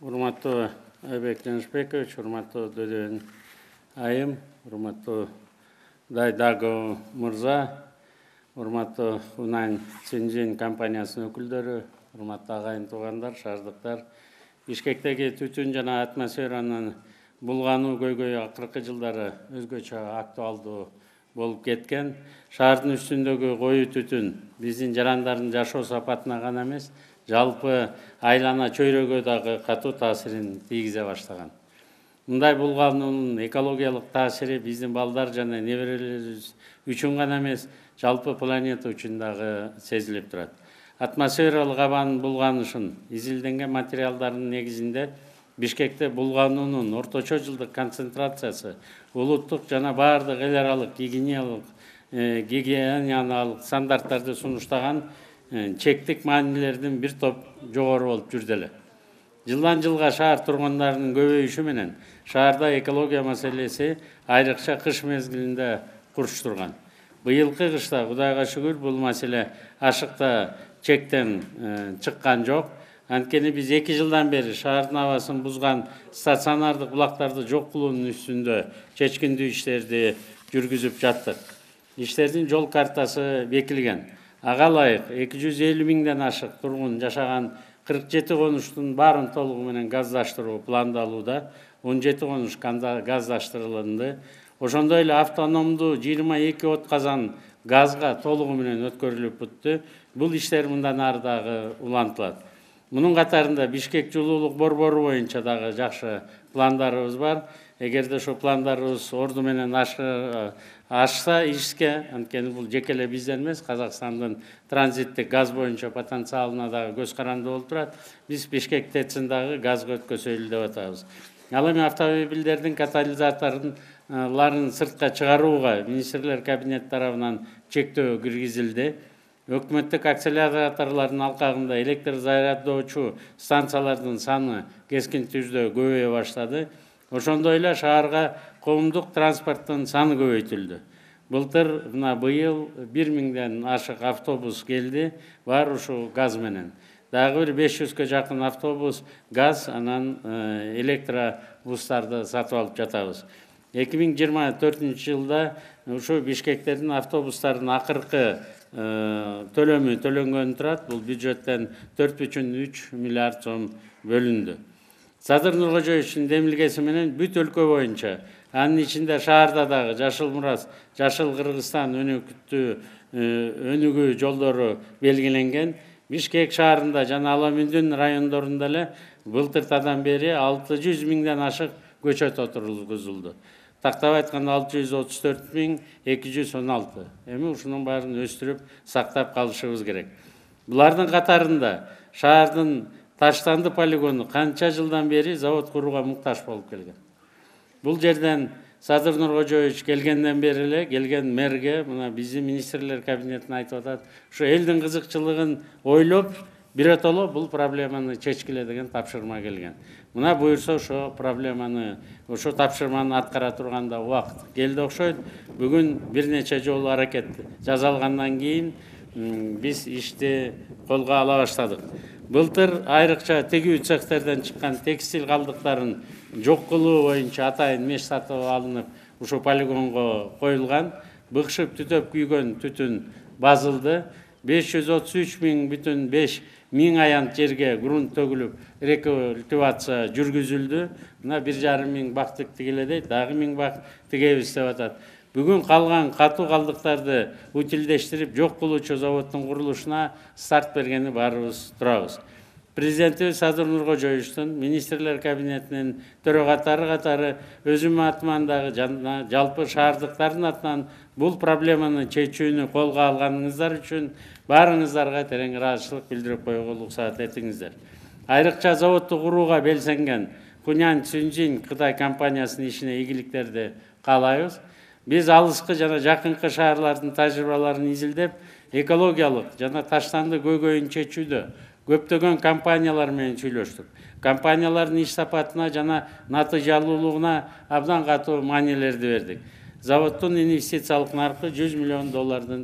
Урматтуу Айбек Жанышбекович, урматтуу Дөдөн айым, урматтуу Дайдагов мырза, урматтуу Унань Цинжин компаниясынын өкүлдөрү, урматтуу агайын туугандар, шаардыктар. Бишкектеги түтүн жана атмосферанын булгануу көйгөйү акыркы жылдары өзгөчө актуалдуу болуп кеткен. Шаардын үстүндөгү коюу түтүн биздин жарандардын жашоо сапатына гана эмес, жалпы айлана чөйрөгө дагы катуу таасирин тийгизе баштаган. Мындай булгануунун экологиялык таасири биздин балдар жана неберелерибиз үчүн гана эмес, жалпы планета үчүн дагы сезилип турат. Атмосфералык абанын булганышын изилденген материалдардын негизинде Бишкекте булгануунун орточо жылдык концентрациясы улуттук жана баардык эл аралык гигиеналык стандарттарды сунуштаган чектик маанилердин бир топ жогору болуп жүрдү эле. Жылдан жылга шаар тургундарынын көбөйүшү менен шаарда экология маселеси айрыкча кыш мезгилинде курч турган. Быйылкы кышта Кудайга шүгүр бул маселе ашыкта чектен чыккан жок. Анткени биз 2 жылдан бери шаардын абасын бузган стационардык булактарды жок кылуунун үстүндө чечкиндүү иштерди жүргүзүп жаттык. Иштердин жол картасы бекилген. Ага ылайык 250 миңден ашык тургун жашаган 47 конуштун баарын толугу менен газдаштыруу пландалууда, 17 конуш газдаштырылды. Ошондой эле автономдуу 22 от казан газга толугу менен өткөрүлүп бүттү. Бул иштер мындан ары дагы улантылат. Мунун катарында Бишкек жылуулук борбору боюнча дагы жакшы пландарыбыз бар. Эгерде ошо пландарыбыз орду менен ашса ишке, анткени бул жеке эле бизден эмес, Казакстандын транзиттик газ боюнча потенциалына дагы көз каранды болуп турат. Биз Бишкек ТЭЦин дагы газга өткөзөлү деп атабыз. Ал эми автомобилдердин катализаторларын сыртка чыгарууга министрлер кабинети тарабынан чектөө киргизилди. Өкмөттүк акселераторлордун алкагында электр заряддоочу станциялардын саны кескин түрдө көбөйө баштады. Ошондой эле шаарга коомдук транспорттун саны көбөйтүлдү. Былтыр быйыл 1000ден ашык автобус келди, бар ушул газ менен. Дагы бир 500гө жакын автобус газ, анан электробустарды сатып алып жатабыз. 2024 жылда ушу Бишкектердин автобустардын акыркы төлөмү төлөнгөн турат. Бул бюджеттен 4,3 миллиард сом бөлүндү. Садыр Нуркожоевичтин демилгеси менен бүт өлкө боюнча, анын ичинде шаарда дагы Жашыл Мурас, Жашыл Кыргызстан өнүгүү жолдору белгиленген. Бишкек шаарында жана Аламүндүн райондорунда эле былтыртадан бери 600 миңден ашык көчөт отургузулду. Тактап айтканда 634.216. Эми ушунун баарын өстүрүп сактап калышыбыз керек. Булардын катарында шаардын Таштанды полигону канча жылдан бери завод курууга муктаж болуп келген. Бул жерден Садыр Нуркожоевич келгенден бери эле келген мэрге мына биздин министрлер кабинетине айтып атат, ушу элдин кызыкчылыгын ойлоп, биротоло бул проблеманы чечкиле деген тапшырма келген. Мына буюрса ошо проблеманы, ошо тапшырманы аткара турганда убакыт келди окшойт. Бүгүн бир нече жолу аракет жасалгандан кийин биз ишти колго ала баштадык. Былтыр айрыкча тегүү цехтерден чыккан текстиль калдыктарын жок кылуу боюнча атайын меш сатып алынып, ушу полигонго коюлган. Быкшып түтөп күйгөн түтүн базылды. 533,5 миң аянт жерге грунт төгүлүп, рекультивация жүргүзүлдү. Мына 1,5 миң бак тигиле дейт, дагы 1000 бак тигебиз деп атат. Бүгүн калган катуу калдыктарды утилдештирип жок кылуучу заводдун курулушуна старт бергени баарыбыз турабыз. Президентибиз Садыр Нуркожоевичтин министрлер кабинетинин төрөгаттары катары өзүм атыман дагы жана жалпы шаардыктардын атынан бул проблеманы чечүүнү колго алганыңыздар үчүн баарыңыздарга терең ыраазычылык билдирип коюуга уруксат этиңиздер. Айрыкча заводду курууга белсенген Унань Цинжин Кытай компаниясынын ишине ийгиликтерди каалайбыз. Биз алыскы жана жакынкы шаарлардын тажрыйбаларын изилдеп, экологиялык жана таштанды көйгөйүн чечүүдө көптөгөн компаниялар менен сүйлөштүк. Компаниялардын иш сапатына жана натыйжалуулугуна абдан катуу маанилерди бердик. Заводдун инвестициялык наркы $100 миллион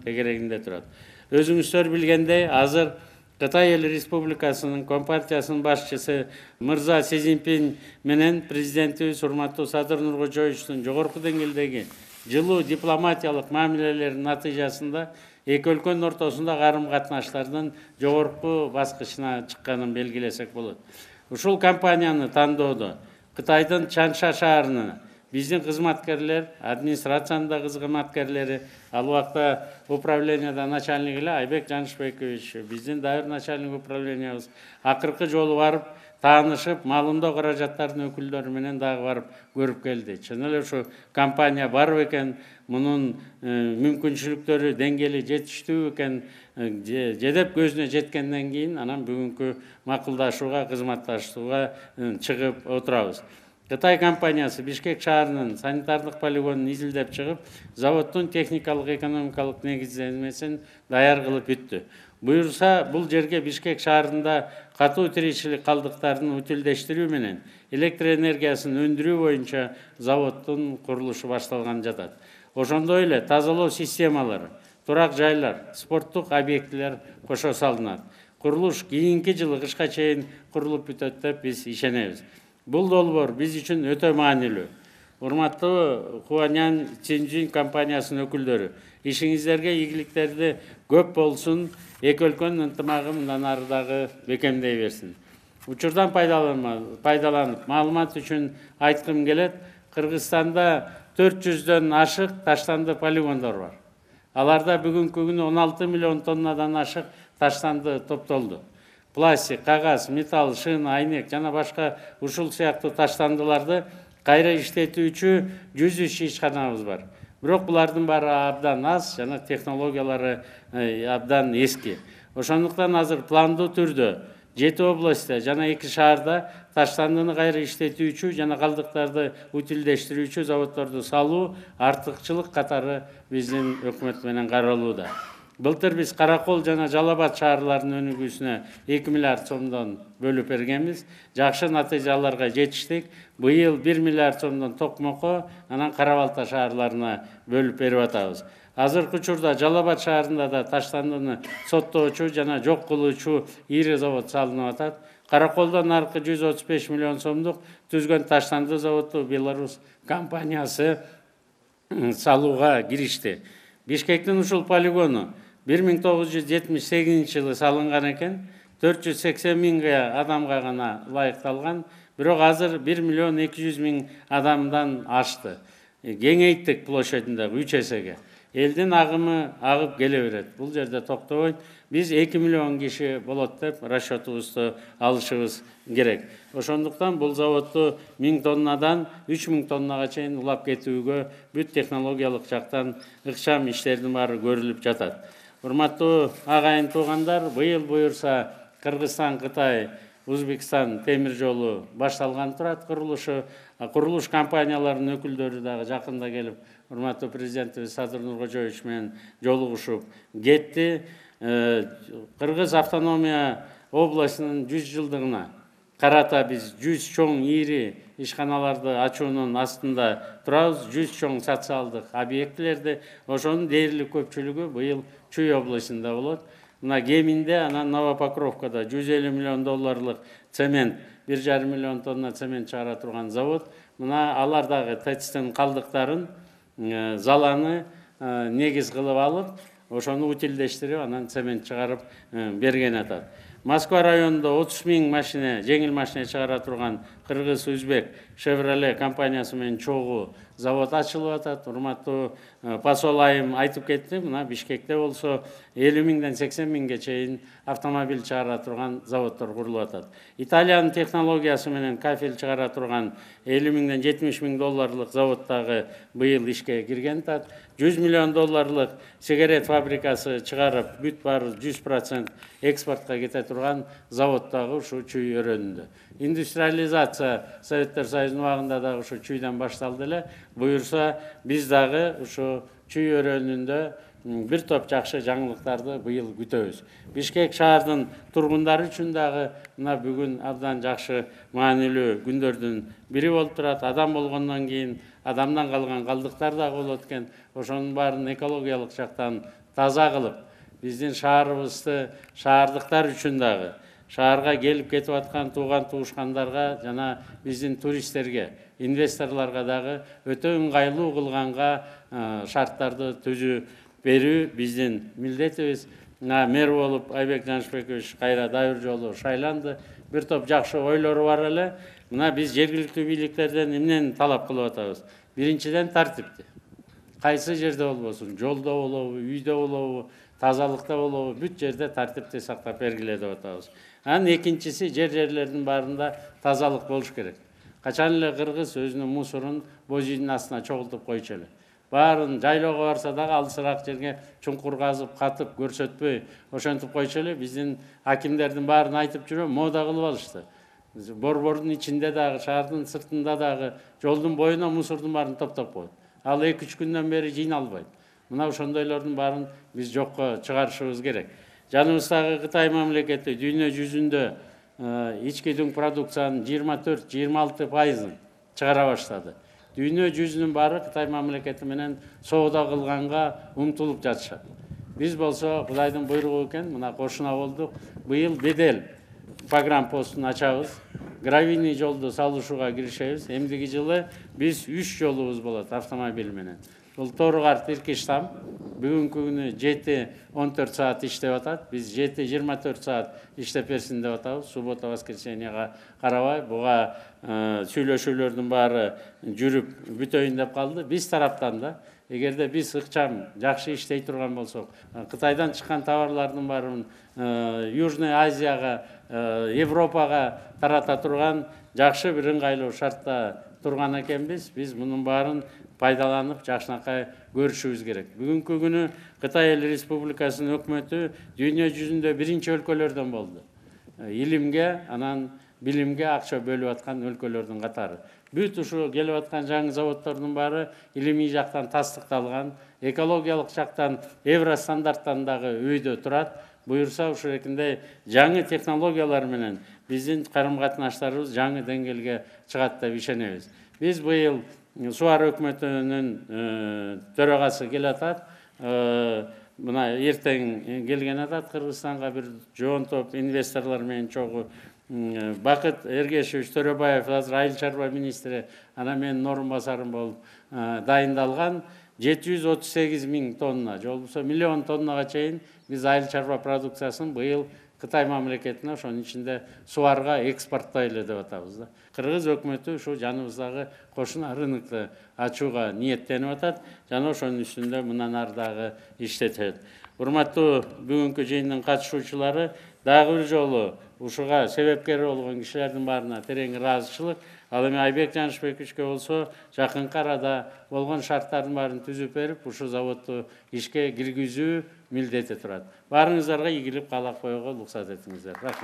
тегерегинде турат. Өзүңүздөр билгендей, азыр Кытай Эл Республикасынын Компартиясынын башчысы мырза Си Цзиньпин менен президентибиз урматтуу Садыр Нуркожоевичтин жогорку деңгээлдеги жылуу дипломатиялык мамилелеринин натыйжасында эки өлкөнүн ортосунда карым-катнаштардын жогорку баскычына чыкканын белгилесек болот. Ушул компанияны тандоодо Кытайдын Чанша шаарына биздин кызматкерлер, администрациянын кызматкерлери, ал убакта управленияда начальник эле Айбек Жанышбекович, биздин дайыр начальник управлениябыз акыркы жолу барып, таанышып, малымдоо каражаттарынын өкүлдөрү менен дагы барып көрүп келди. Чын эле ушу компания бар экен, мунун мүмкүнчүлүктөрү деңгээли жетиштүү экен, жедеп көзүнө жеткенден кийин анан бүгүнкү макулдашууга, кызматташууга чыгып отурабыз. Кытай компаниясы Бишкек шаарынын санитардык полигонун изилдеп чыгып, заводдун техникалык экономикалык негиздемесин даяр кылып бүттү. Буюрса, бул жерге Бишкек шаарында катуу тиричилик калдыктарын утилдештирүү менен электр энергиясын өндүрүү боюнча заводдун курулушу башталган жатат. Ошондой эле тазалоо системалары, турак жайлар, спорттук объектилер кошо салынат. Курулуш кийинки жылы кышка чейин курулуп бүтөт деп биз ишенебиз. Бул долбоор биз үчүн өтө маанилүү. Урматтуу Хуаньян Цинжин компаниясынын өкүлдөрү, ишиңиздерге ийгиликтерди көп болсун, эки өлкөнүн ынтымагы мындан ары дагы бекемдей берсин. Учурдан пайдаланып, маалымат үчүн айткым келет, Кыргызстанда 400дөн ашык таштанды полигондор бар. Аларда бүгүнкү күнү 16 миллион тоннадан ашык таштанды топтолду. Пластик, кагаз, металл, шыны, айнек жана башка ушул сыяктуу таштандыларды кайра иштетүүчү 103 ишканабыз бар. Бирок булардын баары абдан аз жана технологиялары абдан эски. Ошондуктан азыр пландуу түрдө 7 областта жана 2 шаарда таштандыны кайра иштетүүчү жана калдыктарды утилдештирүүчү заводдорду салуу артыкчылык катары биздин өкмөт менен каралууда. Былтыр биз Каракол жана Жалал Абад шаарларынын өнүгүүсүнө 2 миллиард сомдон бөлүп бергенбиз. Жакшы натыйжаларга жетиштик. Быйыл 1 миллиард сомдон Токмокко, анан Кара Балта шаарларына бөлүп берип атабыз. Азыркы учурда Жалал Абад шаарында да таштандыны соттоочу жана жок кылуучу ири завод салынып атат. Караколдон аркы 135 миллион сомдук түзгөн таштанды заводу Беларусь компаниясы салууга киришти. Бишкектин ушул полигону 1978 жылы салынган экен, 480 миңге адамга гана ылайыкталган, бирок азыр 1 миллион 200 миң адамдан ашты. Кеңейттик площадында 3 эсеге. Элдин агымы агып келе берет. Бул жерде токтобойт. Биз 2 миллион киши болот деп расчетубузду алышыбыз керек. Ошондуктан бул заводду 1000 тоннадан 3000 тоннага чейин улап кетүүгө бүт технологиялык жактан ыкчам иштердин баары көрүлүп жатат. Урматтуу агайын туугандар, быйыл буюрса Кыргызстан, Кытай, Өзбекстан темир жолу башталган турат курулушу. Курулуш компанияларынын өкүлдөрү дагы жакында келип, урматтуу президентибиз Садыр Нуркожоевич менен жолугушуп кетти. Кыргыз автономия областынын 100 жылдыгына карата биз 100 чоң ири ишканаларды ачуунун астында турабыз. 100 чоң социалдык объектилерди, ошонун дээрлик көпчүлүгү быйыл Чүй областында болот. Мына Кеминде, анан Новопокровкада 150 миллион долларлык цемент, 1,5 миллион тонна цемент чыгара турган завод. Мына алар дагы ТЭЦтин калдыктарын, заланы негиз кылып алып, ошону утилдештирип, анан цемент чыгарып берген атат. Москва районунда 30 миң машина, жеңил машина чыгара турган Кыргыз-Өзбек Chevrolet компаниясы менен чогуу завод ачылып атат. Урматтуу посол айым айтып кетти, мына Бишкекте болсо 50 миңден 80 миңге чейин автомобиль чыгара турган заводдор курулуп атат. Италиянын технологиясы менен кафель чыгара турган 50 миңден 70 миң долларлык завод дагы быйыл ишке кирген атат. 100 миллион долларлык сигарет фабрикасы чыгарып, бүт баары 100% экспортко кете турган завод дагы ушу Чүй өрөөнүндө. Индустриализация Советтер Союзунун убагында дагы ушу Чүйдөн башталды эле. Буюрса биз дагы ушу Чүй өрөөнүндө бир топ жакшы жаңылыктарды быйыл күтөбүз. Бишкек шаардын тургундары үчүн дагы мына бүгүн абдан жакшы маанилүү күндөрдүн бири болуп турат. Адам болгондон кийин адамдан калган калдыктар дагы болот экен. Ошонун баарын экологиялык жактан таза кылып, биздин шаарыбызды шаардыктар үчүн дагы, шаарга келип кетип аткан тууган туушкандарга жана биздин туристтерге, инвесторлорго дагы өтө ыңгайлуу кылганга шарттарды түзүү берүү биздин милдетибиз. Мэр болуп Айбек Жанышбекович кайра дайыр жолу шайланды. Бир топ жакшы ойлору бар эле. Мына биз жергиликтүү бийликтерден эмнени талап кылып атабыз? Биринчиден тартипти. Кайсы жерде болбосун, жолдо болобу, үйдө болобу, тазалыкта болобу, бүт жерде тартипти сактап бергиле деп атабыз. Анан экинчиси жерлердин баарында тазалык болуш керек. Качан эле кыргыз өзүнүн мусорун боз үйдүн астына чогултуп койчу эле. Баарын жайлоого барса дагы алысыраак жерге чуңкур казып, катып, көрсөтпөй ошентип койчу эле. Биздин акимдердин баарын айтып жүрөм, мода кылып алышты. Борбордун ичинде дагы, шаардын сыртында дагы, жолдун боюна мусордун баарын топтоп коет. Ал 2-3 күндөн бери жыйналбайт. Мына ошондойлордун баарын биз жокко чыгарышыбыз керек. Жаныбыздагы Кытай мамлекети дүйнө жүзүндө ички дүң продукциянын 24-26% чыгара баштады. Дүйнө жүзүнүн баары Кытай мамлекети менен соода кылганга умтулуп жатышат. Биз болсо Кудайдын буйругу экен, мына кошуна болдук. Быйыл бедел погранпостун ачабыз. Гравийный жолду салышууга киришебиз. Эмдиги жылы биз 3 жолубуз болот автомобиль менен. Бул Тору-Карт Иркиштам бүгүнкү күнү 7-14 саат иштеп атат. Биз 7-24 саат иштеп берсин деп атабыз. Суббота, воскресеньега карабай, буга сүйлөшүүлөрдүн баары жүрүп бүтөйүн деп калды. Биз тараптан да эгерде биз ыкчам жакшы иштей турган болсок, Кытайдан чыккан товарлардын баарын Южный Азияга, Европага тарата турган жакшы бир ыңгайлуу шартта турган экенбиз. Биз мунун баарын пайдаланып жакшынакай көрүшүбүз керек. Бүгүнкү күнү Кытай Эл Республикасынын өкмөтү дүйнө жүзүндө биринчи өлкөлөрдөн болду. Илимге, анан билимге акча бөлүп аткан өлкөлөрдүн катары. Бүт ушу келип аткан жаңы заводдордун баары илимий жактан тастыкталган, экологиялык жактан евро стандарттан дагы өйдө турат. Буюрса ушундай жаңы технологиялар менен биздин карым-катнаштарыбыз жаңы деңгээлге чыгат деп ишенебиз. Биз быйыл Сууар өкмөтүнүн төрагасы келе атат. Мына эртең келген атат Кыргызстанга бир жоон топ инвесторлор менен чогуу. Бакыт Эргешевич Төрөбаев азыр айыл чарба министри, анан менин орун басарым болуп дайындалган 738 000 тонна, же болбосо 1 миллион тоннага чейин биз айыл чарба продукциясын быйыл Кытай мамлекетине, ошонун ичинде Сууарга экспорттойлу деп атабыз да. Кыргыз өкмөтү ушу жаныбыздагы кошуна рынокты ачууга ниеттенип атат, жана ошонун үстүндө мындан ары дагы иштетет. Урматтуу бүгүнкү жыйындын катышуучулары, дагы бир жолу ушуга себепкер болгон кишилердин баарына терең ыраазычылык. Ал эми Айбек Жанышбековичке болсо жакынкы арада болгон шарттардын баарын түзүп берип, ушу заводду ишке киргизүү милдети турат. Баарыңыздарга ийгилик каалап коюуга уруксат этиңиздер.